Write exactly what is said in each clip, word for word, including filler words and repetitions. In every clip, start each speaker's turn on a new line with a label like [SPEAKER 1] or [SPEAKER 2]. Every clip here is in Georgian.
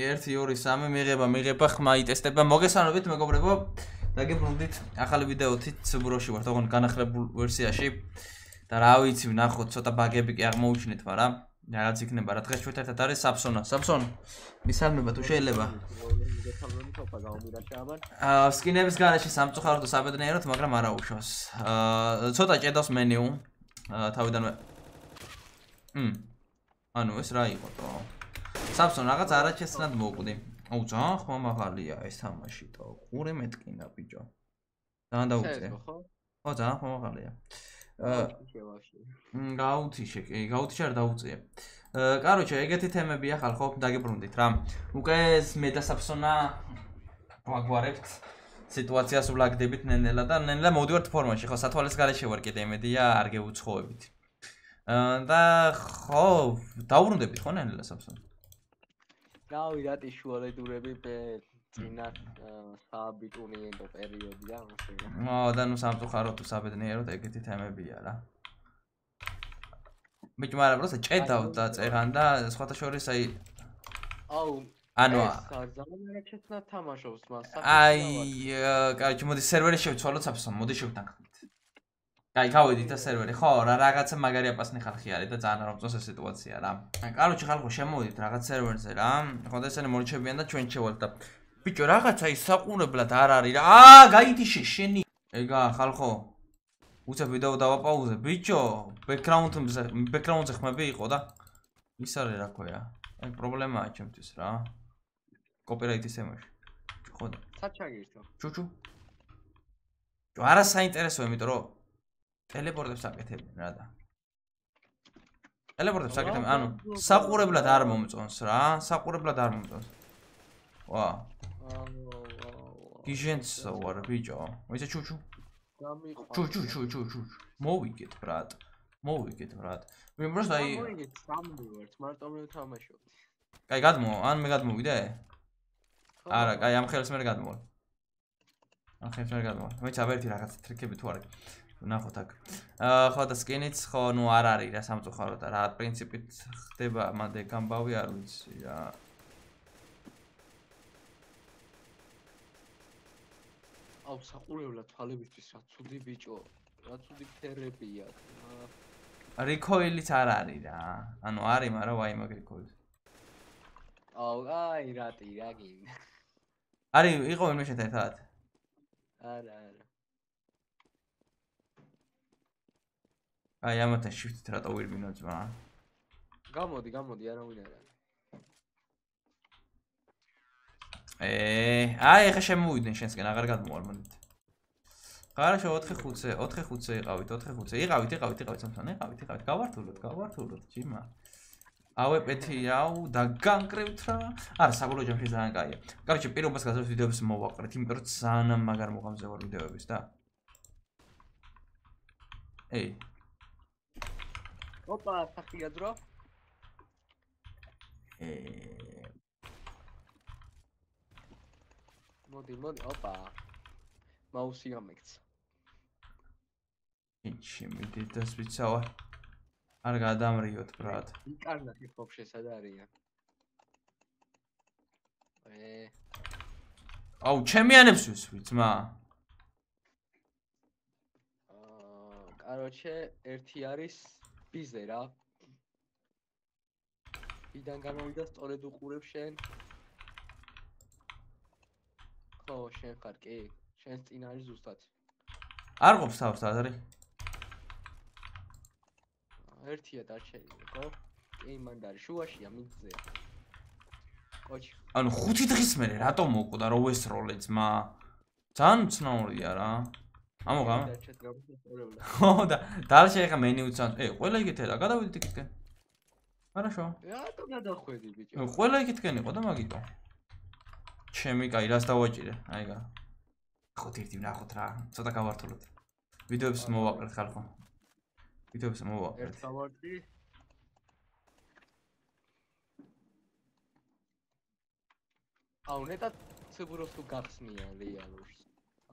[SPEAKER 1] ერთი ორი სამი მიღება, მიღება, ხმა იტესტება. მოგესალმებით მეგობრებო. დაგებრუნდით ახალი ვიდეოთი ცუბროში ვართ, ოღონდ განახლებულ ვერსიაში. და რა ვიცი, ვნახოთ, ცოტა ბაგები კი აღმოუჩნეთ, მაგრამ რაღაც იქნება. რა დღეს ჩვენ ერთად არის Samson. Samson, მისალმება თუ შეიძლება. აა, სკინების გარეშე სამწუხაროდ საბედნიეროდ, მაგრამ არა უშავს. აა, ცოტა ჭედავს მენიუ. აა, თავიდანვე. მმ. ანუ ეს რა იყო თო? Samson რაღაც არაჩესნად მოკვდი. აუ ძალიან ხმამაღალია ეს თამაში თო. ყურე მეტკინა ბიჭო. ძალიან დაუწე. ხო, ძალიან ხმამაღალია. აა გაუთიშე, კი, გაუთიშე არ დაუწია. აა, კაროჩე, ეგეთი თემებია ხალხო, დაგებრუნდით რა. უკვე მე და Samson-ა ვაგვარებთ სიტუაციას ვლაგდებით ნენელა და ნენელა მოვდივართ ფორმაში, ხო, სათვალეს გარეშე ვარ კიდე იმედია არ გეუცხოებით. აა და ხო, დაუბრუნდებით ხო ნენელა Samson?
[SPEAKER 2] გავიდათ შუალედურები წინა საბიტუნიენტო პერიოდია ასე.
[SPEAKER 1] ო, და ნუ სამწუხაროდ თუ საბედნიეროდ ეგეთი თემებია რა. ბიჭო, მაგრამ პროსტა ჭედავ და წერან და სხვათა შორის აი
[SPEAKER 2] აუ
[SPEAKER 1] ანუ
[SPEAKER 2] ძალიან არაჩესნად თამაშობს მას.
[SPEAKER 1] აი, კაროჩე, მოდი სერვერი შევცვალოთ Samson, მოდი შევთანხმდით. აი, გავედით და სერვერი, ხო, რა რაღაცა მაგარი აპასნი ხალხი არის და ძალიან არ მომწონს ეს სიტუაცია რა. კაროჩე, ხალხო, შემოვიდით რაღაც სერვერზე რა. ხო და ესენი მორჩებიან და ჩვენ შევალთ და ბიჭო, რაღაცა ის საყურებლად არ არის რა. აა, გაითიშე შენი. ეგა, ხალხო. უცებ ვიდეო დავაპაუზე. ბიჭო, ბექგრაუნდზე, ბექგრაუნდზე ხმები იყო და ის არის რა ქვია. აი, პრობლემაა ჩემთვის რა. კოპირაიტის თემაში. ხო და.
[SPEAKER 2] საჩაგირთო.
[SPEAKER 1] ჩუჩუ. ჯო, არა საინტერესოა, იმიტომ რომ ტელეპორტებს აკეთებენ რა და. ტელეპორტებს აკეთებენ, ანუ საყურებლად არ მომწონს რა, საყურებლად არ მომწონს. ვა. გიჟენცო ვარ ბიჭო. მოიცა ჩუჩუ. ჩუჩუ ჩუჩუ ჩუჩუ. მოვიგეთ ბრატ. მოვიგეთ ბრატ. მე просто აი
[SPEAKER 2] მოვიგეთ სამი ვართ, მარტო მე ვთამაშობ.
[SPEAKER 1] კაი, გადმო, ან მე გადმოვიდე? არა, კაი, ამ ხელს მე გადმოვალ. ამ ხელს მე გადმოვალ. მოიცა ვერთი რაღაც ტრიკები თუ არის. ვნახოთ აქ. აა, ხო და სკინიც ხო, ნუ არ არის რა სამწუხაროდ რა პრინციპით ხდება, მანდე გამბავი არ ვიცი რა.
[SPEAKER 2] აუ, საყურებლად თვალებისთვის რა ცუდი ბიჭო, რა ცუდი ფერებია.
[SPEAKER 1] რიქოილიც არ არის რა. ანუ არის, მაგრამ ვაი მაგ რიქოილი.
[SPEAKER 2] აუ, აი, რატი, რა გინდა.
[SPEAKER 1] არის, იყო ვინმე შეთან ერთად?
[SPEAKER 2] არა, არა.
[SPEAKER 1] აი, ამათან shift-ით რატო ვირბინო ძმა?
[SPEAKER 2] გამოდი, გამოდი, არავინ არ არის.
[SPEAKER 1] ე, აი, ეხა შემოვიდნენ შენსკენ, აღარ გადმოვალ მოდით. ხარაშო ოთხი ხუთზე, ოთხი ხუთზე იყავით, ოთხი ხუთზე. იყავით, იყავით, იყავით Samson, იყავით, იყავით. გავართულოთ, გავართულოთ, ჯიმა. ავეპეთი, აუ, დაგანკრევთ რა. არა, საბოლოო ჯამში ძალიან კაია. კაროჩე, პირობას გასწრებს ვიდეოებს მოვაყრეთ, იმიტომ რომ ძალიან მაგარ მოღამზე ვარ ვიდეოების და. ეი.
[SPEAKER 2] ოპა, სახია დრო.
[SPEAKER 1] ე
[SPEAKER 2] მოდი, მოდი, ოპა. მაუსი გამექცა.
[SPEAKER 1] იჩი, მიდით და სვიცავარ. არ გადამრიოთ, ბრატ.
[SPEAKER 2] იკარნახი ხოფშე სად არიან? ე.
[SPEAKER 1] აუ, ჩემიანებს ვისვი, ძმა.
[SPEAKER 2] აა, კაროჩე, ერთი არის ბიზე რა. ვიდან გამოვიდა სწორედ უყურებ შენ. ხო, შენ ხარ კი? შენს წინ არის ზუსტად.
[SPEAKER 1] არ ყოფს თავს ადარი.
[SPEAKER 2] ერთია დარჩენილი, ხო? კი, მანდ არის შუაშია, მიგზეა. ოჩი.
[SPEAKER 1] ანუ ხუთი დღის მერე რატომ მოკვდა რო ესროლე ძმა? ძალიან უცნაურია რა. ამოღა? ხო და დარჩე ხა მენიუც ან ე, ყველა იგეთე რა, გადავიდეთ იქითკენ. хорошо.
[SPEAKER 2] რატომ გადახვედი ბიჭო?
[SPEAKER 1] ყველა იქითკენ იყო და მაგიტო. ჩემი კაი, რას დავაჭირე? აიგა. ხოთ ერთი ვნახოთ რა, ცოტა გავართულოთ. ვიდეოებს მოვაყრეთ ხალხო. ვიდეოებს მოვაყრეთ.
[SPEAKER 2] ერთ გავარტი. აუ, ნეტად ცებუროს თუ გახსნია რეალურს.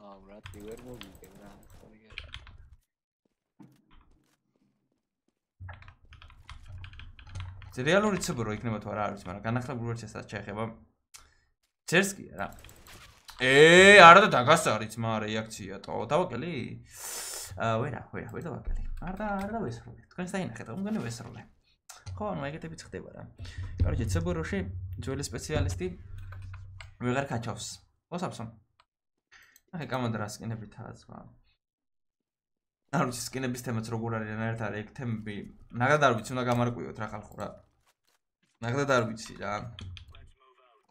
[SPEAKER 2] აუ, რატი ვერ მოვიგე რა, ხონიგე.
[SPEAKER 1] რეალური ცებურო იქნება თუ არა არის, მაგრამ განახლებულ ვერსიასაც შეეხება წერს კი არა. ე, არა და დაგასარიც მა რეაქცია თო. დავაკელი? აა, ვერა, ვერა, ვერ დავაკელი. არ და არ და ვესროლე. თქვენ საინახეთ, უმგონი ვესროლე. ხო, ნუ ეგეთებიც ხდება რა. კაროჩე, ცებუროში ძველი სპეციალისტი ვეღარ ქაჩავს. ხო, სამსონ. აი, კამანდრა სკინებითაა სხვა. არ ვიცი სკინების თემაც როგორ არის რანაირად არის ეგ თემები. ნაგად არ ვიცი, უნდა გამარკვიოთ რა ხალხო რა. ნაგად არ ვიცი რა.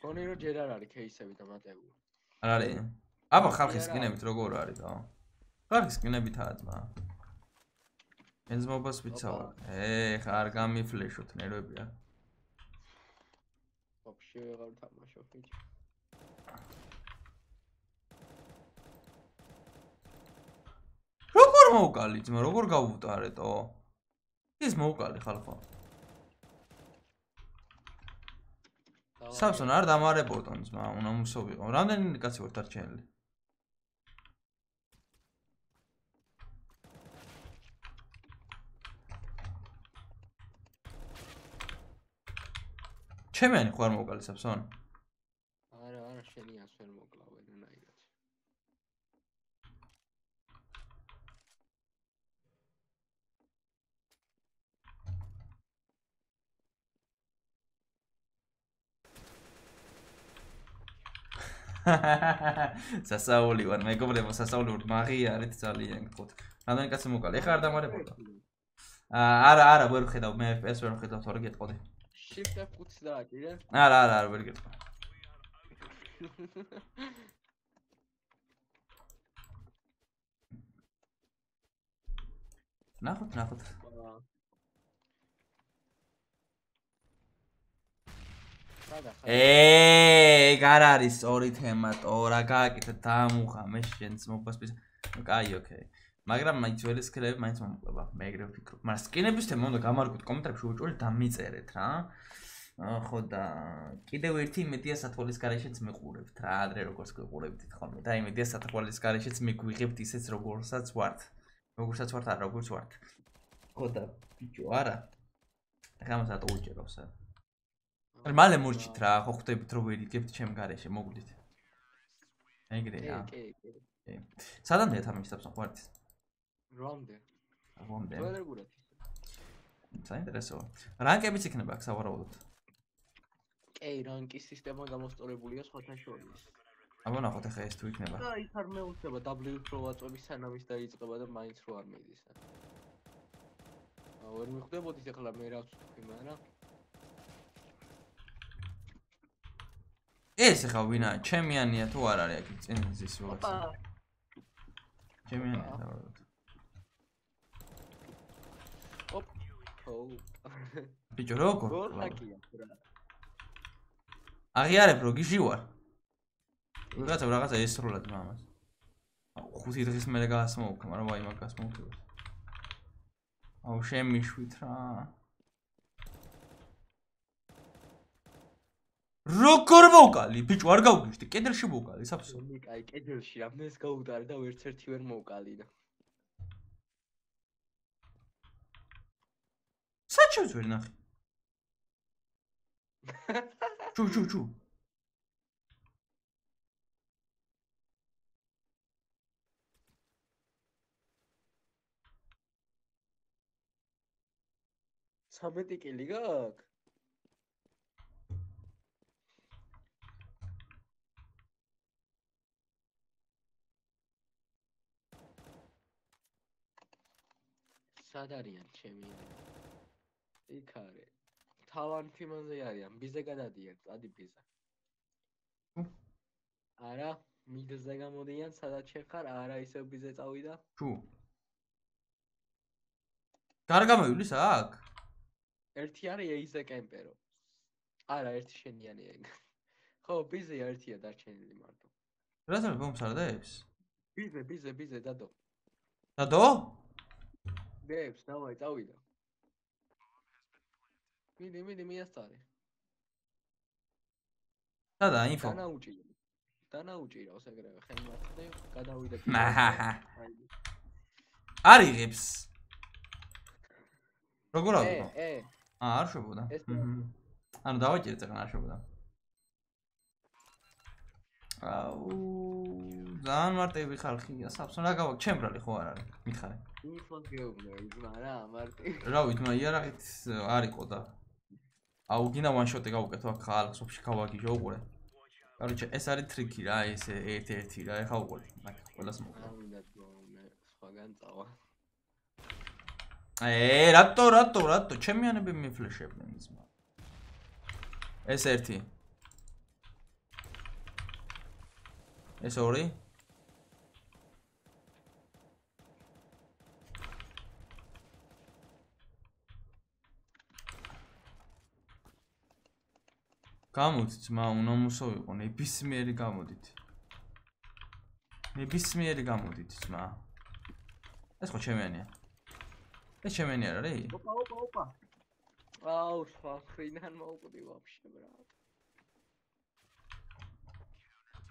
[SPEAKER 2] ხონი რომ ჯერ არ არის кейსები და მატებული.
[SPEAKER 1] არ არის? აბა ხალხის სკინებით როგორ არის და? ხალხის სკინებითაა ძმა. ენზმობას ვიცავ. ე, ხა არ გამიფლეშოთ ნერვებია.
[SPEAKER 2] Вообще ვეღარ თამაშობ ბიჭი.
[SPEAKER 1] როგორ მოვკალი ძმა, როგორ გავუტარეთო? ის მოვკალი ხალხო. სამსონ არ დამარებოდონ ძმა, უნდა მუსოვიყო. რამდენი კაცი ვარ დარჩენილი? ჩემიანი ხო არ მოვკალი სამსონ?
[SPEAKER 2] არა, არა, შენი ას ვერ მოკლავ ვერანაირად.
[SPEAKER 1] სასაული ვარ, მეგობრებო, სასაული ვარ, მაგია არის ძალიან გთხოვთ. რამდენი კაცი მოვკალი? ეხლა არ დამარებოდა. არა, არა, ვერ ვხედავ, მე ეფ პი ეს ვერ ვხედავ, თორე გეტყოდი.
[SPEAKER 2] Shift F ხუთს დააჭირე?
[SPEAKER 1] არა, არა, არა, ვერ გეტყვა. ნახოთ, ნახოთ. ე, გარ არის ორი თემა, ტორა გააკეთე დამუხა, მე შენს მოგბასპის. კაი, ოკეი. მაგრამ მაინც ველი სკილები მაინც მომკლება. მე ეგრე ვფიქრობ. მაგრამ სკინების თემა უნდა გამარკვეთ კომენტარებში უჭველი დამიწერეთ რა. ხო და კიდევ ერთი იმედია სათვალის გარეშეც მიყურებთ რა, ადრე როგორც გიყურებთ ხოლმე და იმედია სათვალის გარეშეც მიგვიღებთ ისეც როგორსაც ვართ. როგორსაც ვართ, არა როგორც ვართ. ხო და ბიჭო, არა. ახლა მასა დაუჭერავს. მალე მორჩით რა, ხო ხვდებით რომ ვერ იგებთ ჩემ გარეშე, მოგვიდით. ეგრეა.
[SPEAKER 2] კი, კი, კი.
[SPEAKER 1] სადამდეა თამაში საბსო ხوارთ?
[SPEAKER 2] რომდე?
[SPEAKER 1] რომდე?
[SPEAKER 2] ყველერ გურად.
[SPEAKER 1] საინტერესოა. რანკებიც იქნება აქ სავარაუდოდ.
[SPEAKER 2] კი, რანკის სისტემა გამოსწორებულია სხვათა შორის.
[SPEAKER 1] აბა ნახოთ ახლა ეს თუ იქნება.
[SPEAKER 2] და ის არ მეუწება W რო ვაწვევი სანამ ის დაიწყება და მაინც რო არ მიდის. აა, ვერ მიხვდებოდით ახლა მე რა ვთქვი, მაგრამ
[SPEAKER 1] ეს ახლა ვინა, ჩემიანია თუ არ არის აქ წინ ზის ვიღაცა. ჩემიანია სავარაუდოდ.
[SPEAKER 2] ოპ. ო.
[SPEAKER 1] ბიჭო როგორ?
[SPEAKER 2] გორაკია რა.
[SPEAKER 1] აღიარებ რო გიჟი ვარ. ვიღაცა რაღაცა ესროლად მამას. ხუთი დღის მერე გაასმოვქ, მაგრამ ვაი მაგას მოვქებ. აუ შემიშვით რა. როგორ მოვკალი? ბიჭო არ გავგიშდი, კედელში მოვკალი, საბსო.
[SPEAKER 2] აი, კედელში ამას გაუტარე და ვერც ერთი ვერ მოვკალი და.
[SPEAKER 1] საჩევს ვერ ნახე. ჩუ ჩუ ჩუ.
[SPEAKER 2] ცამეტი კილი გაქვს? სად არიან ჩემი? იქ არის. თავან ფიმანზე არიან, ბიზე გადადიან, წადი ბიზა. არა, მიდზე გამოდიან, სადაც შეხარ, არა ისევ ბიზე წავიდა.
[SPEAKER 1] ჩუ. გარგამევლის აქ?
[SPEAKER 2] ერთი არის ეიზე კემპერო. არა, ერთი შენიანია ეგ. ხო, ბიზე ერთია დარჩენილი მარტო.
[SPEAKER 1] რატომ მომსარდებს?
[SPEAKER 2] ბიზე, ბიზე, ბიზე დადო.
[SPEAKER 1] დადო?
[SPEAKER 2] გებს, დავაი, წავიდა. მიდი, მიდი, მიასწარე.
[SPEAKER 1] სადა ინფო?
[SPEAKER 2] დანაუჭირო. დანაუჭირავს ეგრევე, ხელმაწყდი, გადავიდა.
[SPEAKER 1] მაჰაჰა. არიღებს. როგორ ავიღო?
[SPEAKER 2] ე, ე.
[SPEAKER 1] აა, არ შვებოდა. ანუ დავაჭერე წეგან არ შვებოდა. აუ ძალიან მარტივი ხალხია საბსო რა გავაკ ჩემ ბრალი ხო არ არის მითხარი
[SPEAKER 2] იფოს გეუბნე იზმა რა მარტივი
[SPEAKER 1] რა ვითმა იარაღით არ იყო და აუ გინდა ვან შოტი გავუკეთო აქ ხალხს ვაფშე გავაგიჟო უყურე კაროჩე ეს არის ტრიკი რა ეს ერთ-ერთი რა ეხა უყურე მაგ ყველას მოკლა
[SPEAKER 2] მინდა მე სხვაგან წავა
[SPEAKER 1] ე რატო რატო რატო ჩემიანები მიფლეშებდნენ იზმა ეს ერთი ეს ორი გამოდით ძმა უნდა მოსოვიყო ნებისმიერი გამოდით ნებისმიერი გამოდით ძმა ეს ხო ჩემიანია ეს ჩემიანი არ არის
[SPEAKER 2] ოპა ოპა ოპა აუ სხვა ხრიდან მოვკვდი ვაფშე ბრატ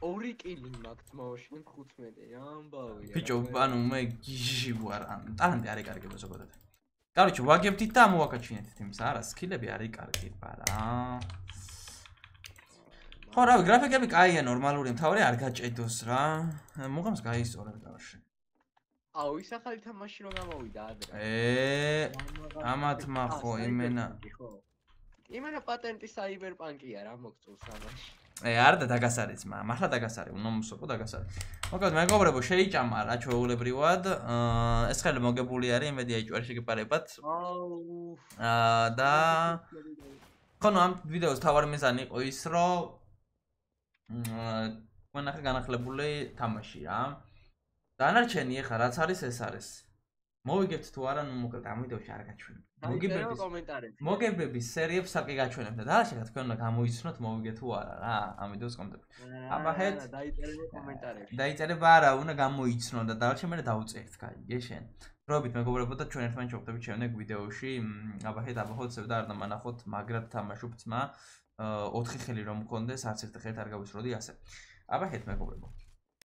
[SPEAKER 2] ორი კილი მაქვს მოშენ ხუთმეტი ამბავია
[SPEAKER 1] ბიჭო ანუ მე გიჟი ვარ ან ტალანტი არ იკარგება ზოგადად კაროჩე ვაგებდით და მოვაკაჩინეთ იმის არა სკილები არ იკარგება რა ხო რა გრაფიკები კაია ნორმალური მთავარი არ გაჭედოს რა მოგამს გაისწორებ გავაში
[SPEAKER 2] აუ ის ახალი თამაში რომ გამოვიდა ადრე
[SPEAKER 1] ე ამათ მახო იმენა
[SPEAKER 2] იმენა პატენტი საიბერპანკია რა მოგწევს ამაში
[SPEAKER 1] ე არ და დაგასარიც მა მართლა დაგასარი უნდა მოსოყო დაგასარი მოკლედ მეგობრებო შეიჭამა რა ჩვეულებრივად ეს ხელი მოგებული არის იმედი აიჭვარი შეგეპარებათ
[SPEAKER 2] აუ
[SPEAKER 1] და ხონო ამ ვიდეოს თავარი მიზანი იყო ის რომ მანახა განახლებული თამაში რა დანარჩენი ეხა რაც არის ეს არის მოვიგებთ თუ არა ნუ მოკლედ ამ ვიდეოში არ გაჩვენებ მოგებების
[SPEAKER 2] კომენტარებში
[SPEAKER 1] მოგებების სერიებს საკი გაჩვენებ და დანარჩენად თქვენ უნდა გამოიცნოთ მოვიგე თუ არა რა ამ ვიდეოს კომენტარებში აბაჰეთ
[SPEAKER 2] დაიწერეთ კომენტარებში
[SPEAKER 1] დაიწერება არა უნდა გამოიცნო და დანარჩენ მე დავწერთ კაი გეშენ პრობით მეგობრებო და ჩვენ ერთმანეთს შევხვდებით შემდეგ ვიდეოში აბაჰეთ აბაჰოთ სევდა არ დამანახოთ მაგრად თამაშობ ძმა ოთხი ხელი რომ მქონდეს არც ერთ ხელით არ გავისროდი ასე აბაჰეთ მეგობრებო